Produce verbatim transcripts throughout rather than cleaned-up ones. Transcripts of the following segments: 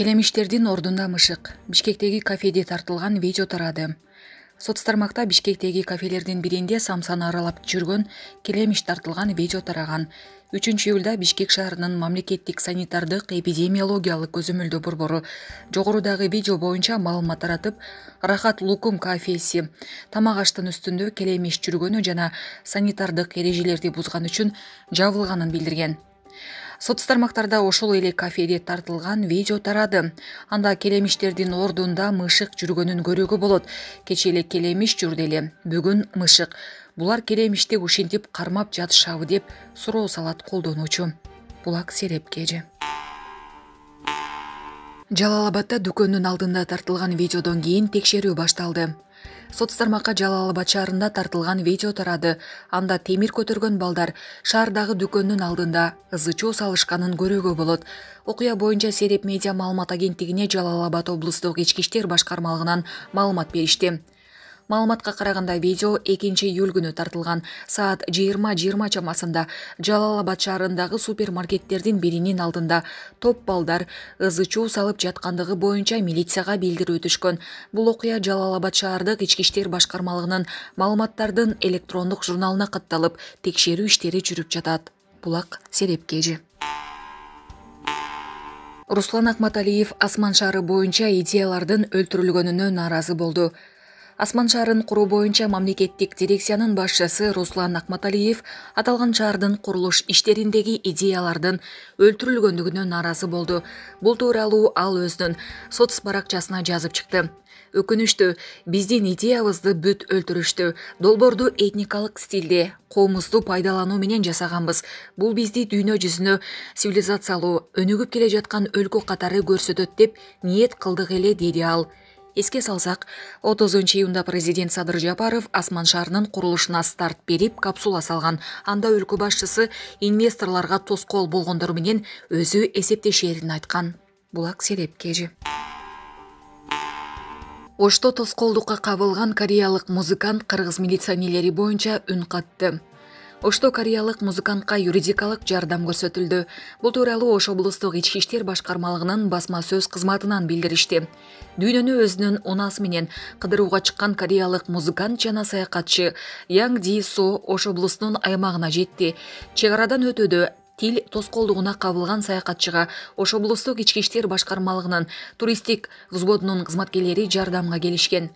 Келемиштердин ордунда мышык. Бишкектеги кафеде тартылган видео тарады. Соц тармакта Бишкектеги кафелердин биринде самсаны аралап жүргөн келемиш тартылган видео тараган. үчүнчү июлда Бишкек шаарынын мамлекеттик санитардык эпидемиологиялык көзөмөлдөө борбору жогорудагы видео боюнча маалымат таратып, Рахат Лукум кафеси тамак аштын үстүндө келемиш жүргөнү жана санитардык эрежелерди бузган үчүн жабылганын билдирген. Соц тармактарда ошол эле кафеде тартылган видео тарады. Анда келемиштердин ордунда мышык жүргөнүн көрүүгө болот. Кечээ эле келемиш жүрдү эле, бүгүн мышык. Булар келемишти ушинтип кармап жатышабы деп суроо салат колдонуучу. Булак Сереп Кежи. Жалал Абадда дүкөндүн алдында тартылган видеодон кийин текшерүү башталды. Соц тармакка Жалал Абад шаарында тартылган видео тарады. Анда темир көтөргөн балдар шаардагы дүкөндүн алдында ызы чуу салышканын көрүүгө болот. Окуя боюнча Сереп медиа маалымат агенттигине Жалал Абад облустук ички иштер башкармалыгынан маалымат беришти. Маалыматка караганда видео экинчи июль күнү тартылган. Саат жыйырма жыйырма чамасында Жалал Абад шаарындагы супермаркеттердин биринин алдында топ балдар ызы чуу салып жаткандыгы боюнча милицияга билдирүү түшкөн. Бул окуя Жалал Абад шаардык ички иштер башкармалыгынын маалыматтардын электрондук журналына катталып, текшерүү иштери жүрүп жатат. Булак Сереп Кежи. Руслан Акматалиев Асман шаары боюнча идеялардын өлтүрүлгөнүнө нааразы болду. Асман шаарын куруу боюнча мамлекеттик дирекциянын башчысы Руслан Акматалиев аталган шаардын курулуш иштериндеги идеялардын өлтүрүлгөндүгүнө нааразы болду. Бул тууралуу ал өзүнүн соц баракчасына жазып чыкты. Өкүнүштүү, биздин идеябызды бүт өлтүрүштү. Долбоорду этникалык стилде, коомузду пайдалануу менен жасаганбыз. Бул бизди дүйнө жүзүнө цивилизациялуу, өнүгүп келе жаткан өлкө катары көрсөтөт деп ниет кылдык эле, деди ал. Эске салсак, отузунчу июнда президент Садыр Жапаров Асман шаарынын курулушуна старт берип, капсула салган. Анда өлкө башчысы инвесторлорго тоскоол болгондор менен өзү эсептешерин айткан. Булак Сереп Кежи. Ошто тоскоолдукка кабылган кореялык музыкант кыргыз милиционерлери боюнча үн катты. Ошто кореялык музыкантка юридикалык жардам көрсөтүлдү. Бул тууралуу Ош облустук ички иштер башкармалыгынын басма сөз кызматынан билдиришти. Дүйнөнү өзүнүн унаасы менен кыдырууга чыккан кореялык музыкант жана саякатчы Янг Ди Со Ош облусунун аймагына жетти. Чек арадан өтүүдө тил тоскоолдугуна кабылган саякатчыга Ош облустук ички иштер башкармалыгынын туристтик взводунун кызматкерлери жардамга келишкен.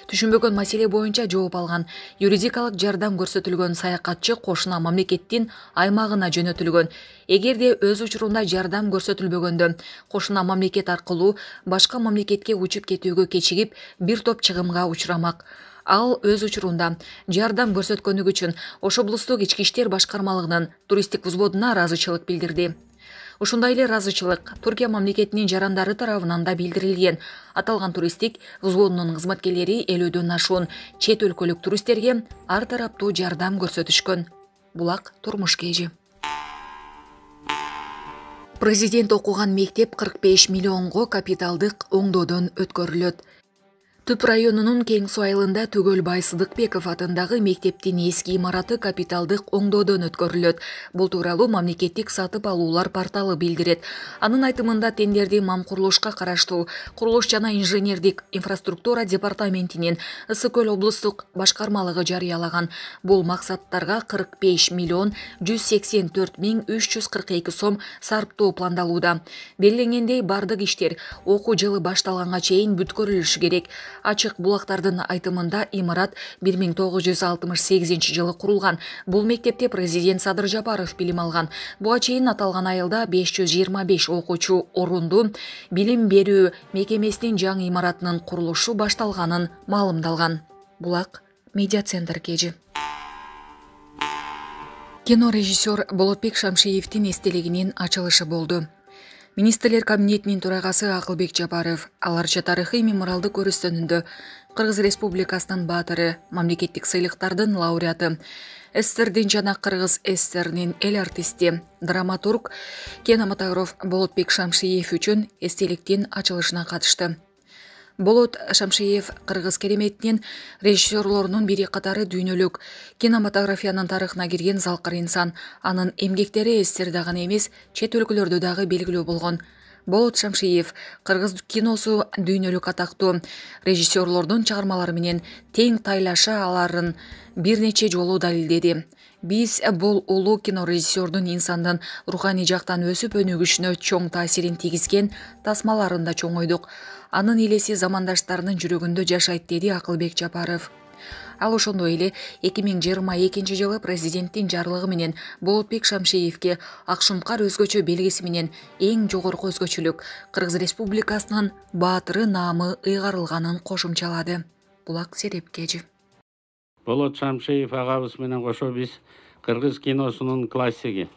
Түшүнбөгөн маселе боюнча жооп алган. Юридикалык жардам көрсөтүлгөн саякатчы кошуна мамлекеттин аймагына жөнөтүлгөн. Эгерде өз учурунда жардам көрсөтүлбөгөндө, кошуна мамлекет аркылуу башка мамлекетке учуп кетүүгө кечигип, бир топ чыгымга учурамак. Ал өз учурунда жардам көрсөткөнүгү үчүн Ош облустук ички иштер башкармалыгынын туристтик взводуна ыраазычылык билдирди. Ушундай эле ыраазычылык Туркия мамлекетинин жарандары тарабынан да билдирилген. Аталган туристтик взводунун кызматкерлери элүүдөн ашуун чет өлкөлүк туристтерге ар тараптуу жардам көрсөтүшкөн. Булак Турмуш Кежи. Президент окуган мектеп кырк беш миллионго капиталдык оңдоодон өткөрүлөт. Түп районунун Кең Суу айылында Түгөлбай Сыдыкбеков атындагы мектептин эски имараты капиталдык оңдоодон өткөрүлөт. Бул тууралуу мамлекеттик сатып алуулар порталы билдирет. Анын айтымында тендерди Мам курулушка караштуу Курулуш жана инженердик инфраструктура департаментинин Ысык Көл облустук башкармалыгы жарыялаган. Бул максаттарга кырк беш миллион жүз сексен төрт миң үч жүз кырк эки сом сарптоо пландалууда. Белгиленгендей, бардык иштер окуу жылы башталганга чейин бүткөрүлүшү керек. Ачык булактардын айтымында имарат бир миң тогуз жүз алтымыш сегизинчи жылы курулган. Бул мектепте президент Садыр Жапаров билим алган. Буга чейин аталган айылда беш жүз жыйырма беш окуучу орундуу билим берүү мекемесинин жаңы имаратынын курулушу башталганын маалымдалган. Булак Медиа Центр Кежи. Кино режиссер Болотбек Шамшиевдин эстелигинин ачылышы болду. Министрлер кабинетинин төрагасы Акылбек Жапаров аларча тарыхый мемориалдык көрүстөнүндө Кыргыз Республикасынын баатыры, мамлекеттик сыйлыктардын лауреаты, СССРдин жана Кыргыз СССРинин эл артисти, драматург, кинематограф Болотбек Шамшиев үчүн эстеликтин ачылышына катышты. Болот Шамшиев кыргыз кереметинин режиссерлорунун бири катары дүйнөлүк кинематографиянын тарыхына кирген залкыр инсан. Анын эмгектери СССРда гана эмес, чет өлкөлөрдө дагы белгилүү болгон. Болот Шамшиев кыргыз киносу дүйнөлүк атактуу режиссерлордун чыгармалары менен тең тайлаша аларын бир нече жолу далилдеди. Биз бул улуу кинорежиссердун инсандын руханий жактан өсүп өнүгүшүнө чоң таасирин тийгизген тасмаларын да чоңойдук. Анын элеси замандаштарынын жүрөгүндө жашайт, деди Акылбек Жапаров. Ал ошондой эле эки миң жыйырма экинчи жылы президенттин жарлыгы менен Болотбек Шамшиевке ак шумкар өзгөчө белгиси менен эң жогорку өзгөчөлүк Кыргыз Республикасынын баатыры наамы ыйгарылганын кошумчалады. Булак Серепкежи. Болот Шамшиев агабыз менен кошо биз кыргыз киносунун классиги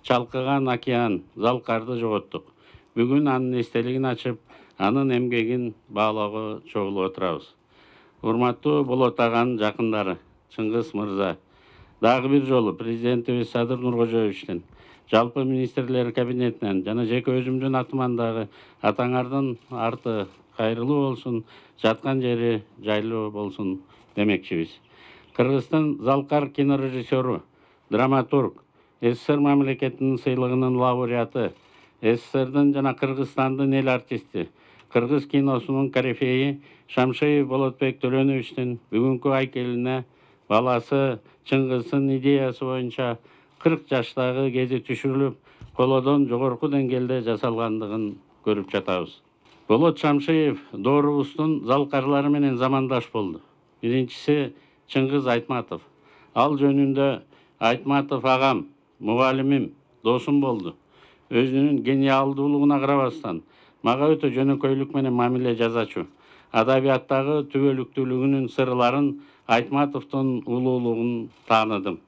Чалкыган океан Залкарды жоготтук. Бүгүн анын эстелигин ачып, анын эмгегин баалоого чогулуп отурабыз. Урматтуу Болот аганын жакындары, Чыңгыз мырза, дагы бир жолу президентибиз Садыр Нуркожоевичтен, жалпы министрлер кабинетинен жана жеке өзүмдүн атыман дагы атаңардын арты кайрылуу болсун, жаткан жери жайлуу болсун демекчибиз. Кыргыздын Залкар кинорежиссеру, драматург, СССР мамлекетинин сыйлыгынын лауреаты, СССРдын жана Кыргызстандын эл артисти, кыргыз киносунун корифеи Шамшиев Болотбек Төлөновичтин бүгүнкү айкелине баласы Чыңгыздын идеясы боюнча кырк жаштагы кези түшүрүлүп, колодон жогорку деңгээлде жасалгандыгын көрүп жатабыз. Болот Шамшиев доорубуздун залкарлары менен замандаш болду. Биринчиси Чыңгыз Айтматов. Ал жөнүндө Айтматов агам, мугалимим, досум болду. Өзүнүн гениалдуулугуна карабастан, мага өтө жөнөкөйлүк менен мамиле жасачу. Адабияттагы түбөлүктүүлүгүнүн сырларын, Айтматовдун улуулугун тааныдым.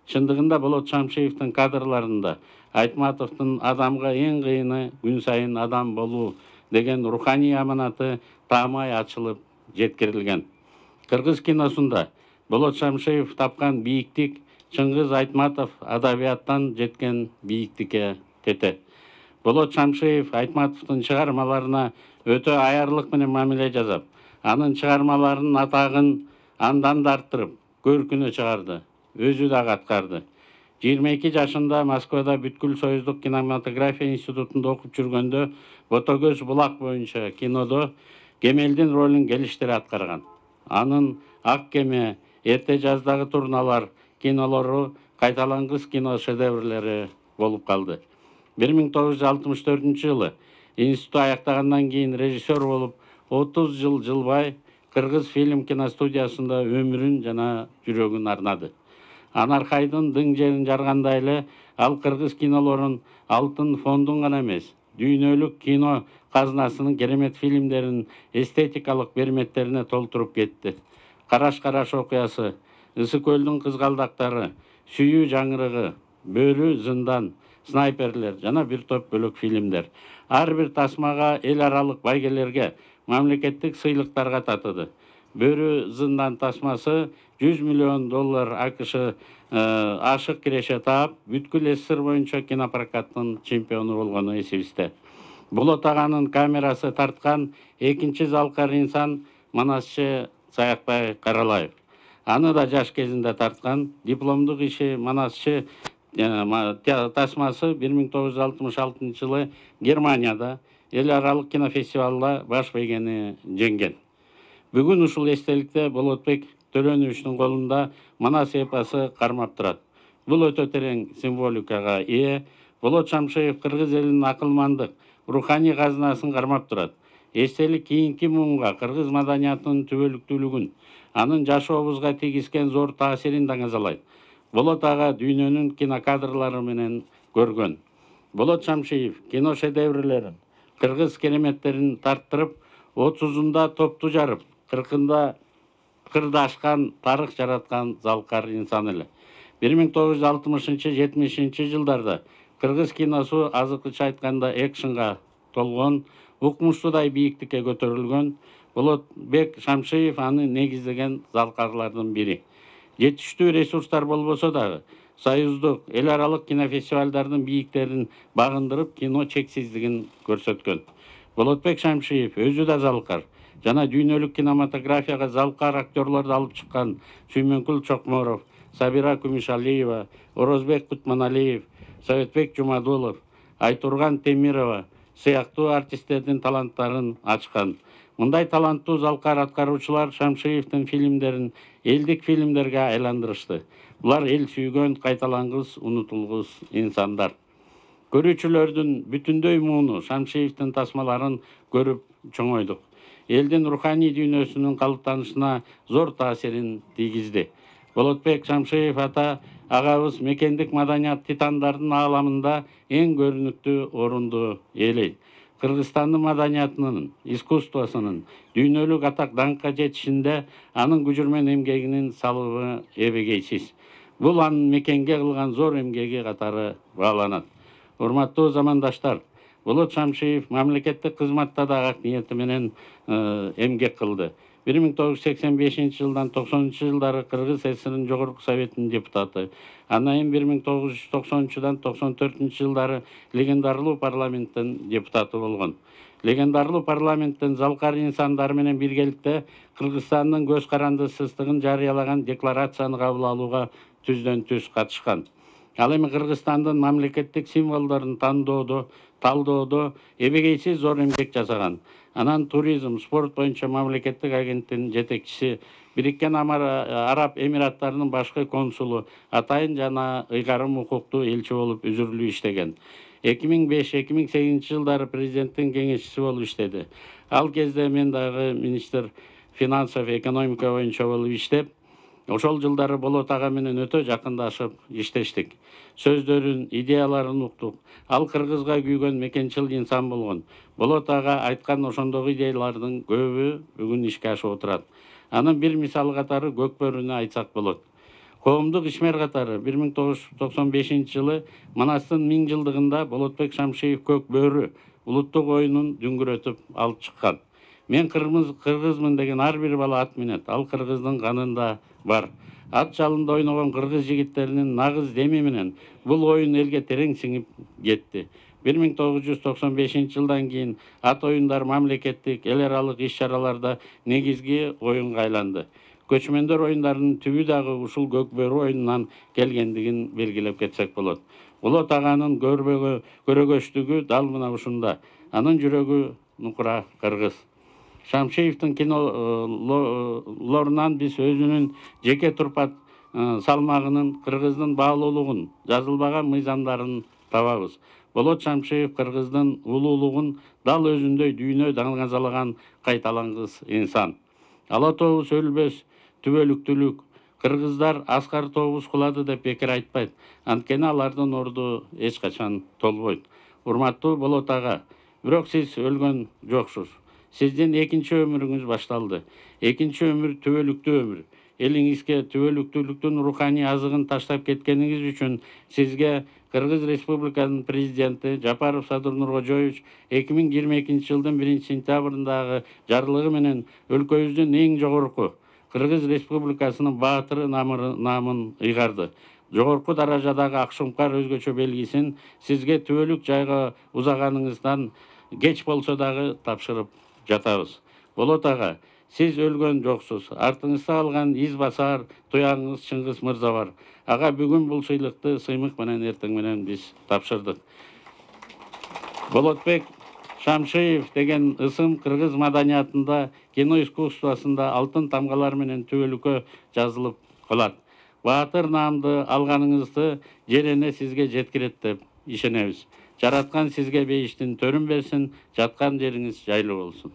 Чындыгында Болот Шамшиевдин кадрларында Айтматовдун адамга эң кыйыны күн сайын адам болуу деген руханий аманаты таамай ачылып жеткирилген. Кыргыз киносунда Болот Шамшиев тапкан бийиктик Чыңгыз Айтматов адабияттан жеткен бийиктикке тете. Болот Шамшиев Айтматовдун чыгармаларына өтө аярлык менен мамиле жасап, анын чыгармаларынын атагын андан да арттырып, көркүнө чыгарды. Өзү да аткарды. жыйырма эки жашында Москвада бүткүл союздук кинематография институтунда окуп жүргөндө Ботокөз булак боюнча кинодо Кемелдин ролун келиштире аткарган. Анын Ак кеме, Эрте жаздагы турналар кинолору кайталангыс кино шедеврлери болуп калды. бир миң тогуз жүз алтымыш төртүнчү жылы институт аяктагандан кийин режиссер болуп, отуз жыл жылбай Кыргыз фильм киностудиясында өмүрүн жана жүрөгүн арнады. Анархайдын дың жерин жаргандай эле ал кыргыз кинолорун алтын фондун гана эмес, дүйнөлүк кино казынасынын керемет фильмдерин эстетикалык берметтерине толтуруп кетти. Караш-караш окуясы, Ысык көлдүн кызгалдактары, Сүйүү жаңырыгы, Бөрү зындан, Снайперлер жана бир топ бөлөк фильмдер. Ар бир тасмага эл аралык байгелерге, мамлекеттик сыйлыктарга татыды. Бөрү зындан тасмасы жүз миллион доллар АКШ ашык киреше таап, бүткүл СССР боюнча кинопрокаттын чемпиону болгону эсибизде. Болот аганын камерасы тарткан экинчи залкар инсан Манасчы Саякбай Каралаев. Аны да жаш кезинде тарткан. Дипломдук иши Манасчы тасмасы бир миң тогуз жүз алтымыш алтынчы жылы Германияда эл аралык кинофестивалда баш бейгени жеңген. Бүгүн ушул эстеликте Болотбек Төлөновичтин колунда Манас эпосы кармап турат. Бул өтө терең символикага ээ. Болот Шамшиев кыргыз элинин акылмандык, руханий казынасын кармап турат. Эстелик кийинки муунга кыргыз маданиятынын түбөлүктүүлүгүн, анын жашообузга тийгизген зор таасирин даңазалайт. Болот ага дүйнөнүн кинокадрлары менен көргөн. Болот Шамшиев кино шедеврлерин, кыргыз кереметтерин тарттырып, отузунда топту жарып, кыркында кырды ашкан, тарых жараткан залкар инсан эле. бир миң тогуз жүз алтымышынчы жетимишинчи жылдарда кыргыз киносу азыркыча айтканда экшнга толгон, укмуштуудай бийиктикке көтөрүлгөн. Болотбек Шамшиев аны негиздеген залкарлардын бири. Жетиштүү ресурстар болбосо дагы, союздук, эл аралык кинофестивалдардын бийиктерин багындырып, кино чексиздигин көрсөткөн. Болотбек Шамшиев өзү да залкар жана дүйнөлүк кинематографияга залкар актерлорду алып чыккан Сүймөнкүл Чокморов, Сабира Күмүшалиева, Орозбек Кутманалиев, Советбек Жумадулов, Айтурган Темирова, сыяктуу артисттердин таланттарын ачкан. Мындай таланттуу залкар аткаруучулар Шамшиевдин фильмдерин элдик фильмдерге айландырышты. Булар эл сүйгөн, кайталангыс, унутулгус инсандар. Көрүүчүлөрдүн бүтүндөй мууну Шамшиевдин тасмаларын көрүп чоңойдук. Элдин руханий дүйнөсүнүн калыптанышына зор таасирин тийгизди. Болотбек Шамшиев ата агабыз мекендик маданият титандардын ааламында эң көрүнүктүү орунду ээлейт. Кыргызстандын маданиятынын, искусствосунун дүйнөлүк атак даңкка жетишинде анын күжүрмөн эмгегинин салыбы эбегейсиз. Бул анын мекенге кылган зор эмгеги катары бааланат. Урматтуу замандаштар, Болот Шамшиев мамлекеттик кызматта да ак ниети менен эмгек кылды. бир миң тогуз жүз сексен бешинчи жылдан токсонунчу жылдары Кыргыз ССРинин Жогорку Советинин депутаты. Андан кийин бир миң тогуз жүз токсонунчудан токсон төртүнчү жылдары легендарлуу парламенттин депутаты болгон. Легендарлуу парламенттин залкар инсандары менен биргеликте Кыргызстандын көз карандысыздыгын жарыялаган декларацияны кабыл алууга түздөн түз катышкан. Ал эми Кыргызстандын мамлекеттик символдорун тандоодо, талдоодо эбегейсиз зор эмгек жасаган. Анан туризм, спорт боюнча мамлекеттик агенттигинин жетекчиси, Бириккен Араб Эмираттарынын башкы консулу, атайын жана ыйгарым укуктуу элчи болуп үзүрүлүү иштеген. эки миң беш эки миң сегизинчи жылдары президенттин кеңешчиси болуп иштеди. Ал кезде мен дагы министр финансов, экономика боюнча болуп иштеп, ошол жылдары Болот ага менен өтө жакындашып иштештик. Сөздөрүн, идеяларын уктук. Ал Кыргызга күйгөн мекенчил инсан болгон. Болот ага айткан ошондогу идеялардын көбү бүгүн ишке ашып отурат. Анын бир мисалы катары Көкбөрүнү айтсак болот. Коомдук ишмер катары бир миң тогуз жүз токсон бешинчи жылы Манастын миң жылдыгында Болотбек Шамшиев Көкбөрү улуттук оюнун дүңгүрөтүп алып чыккан. Мен кыргызмын деген ар бир бала ат минет. Ал кыргыздын канында бар. Ат жалында ойногон кыргыз жигиттеринин нагыз деми менен бул оюн элге терең сиңип кетти. бир миң тогуз жүз токсон бешинчи жылдан кийин ат оюндар мамлекеттик, эл аралык иш-чараларда негизги оюнга айланды. Көчмөндөр оюндарынын түбү дагы ушул Көкбөрү оюнунан келгендигин белгилеп кетсек болот. Болот аганын көрөгөчтүгү дал мына ушунда. Анын жүрөгү нукура кыргыз. Шамшиевдин кинолорунан биз өзүнүн жеке турпат салмагынын, кыргыздын баалуулугун, жазылбаган мыйзамдарын табабыз. Болот Шамшиев кыргыздын улуулугун дал өзүндөй дүйнө даңазалаган кайталангыс инсан. Ала тобус өлбөс, түбөлүктүүлүк. Кыргыздар аскар тобус кулады деп бекер айтпайт. Анткени алардын орду эч качан толбойт. Урматтуу Болот ага, бирок сиз өлгөн жоксуз. Сиздин экинчи өмүрүңүз башталды. Экинчи өмүр түбөлүктүү өмүр. Элиңизге түбөлүктүүлүктүн руханий азыгын таштап кеткениңиз үчүн сизге Кыргыз Республиканын президенти Жапаров Садыр Нуркожоевич эки миң жыйырма экинчи жылдын биринчи сентябрындагы жарлыгы менен өлкөбүздүн эң жогорку Кыргыз Республикасынын баатыры намын ыйгарды. Жогорку даражадагы Акшумкар өзгөчө белгисин сизге түбөлүк жайга узаганыңыздан кеч болсо дагы тапшырып жатабыз. Болот ага, сиз өлгөн жоксуз. Артыңызда калган из басар туяңыңыз Чыңгыз мырза бар. Ага бүгүн бул сыйлыкты сыймык менен эртең менен биз тапшырдык. Болотбек Шамшиев деген ысым кыргыз маданиятында, кино искусствосунда алтын тамгалар менен түбөлүккө жазылып калат. Баатыр наамды алганыңызды жер эне сизге жеткирет деп ишенебиз. Жараткан сизге бейиштин төрүн берсин, жаткан жериңиз жайлуу болсун.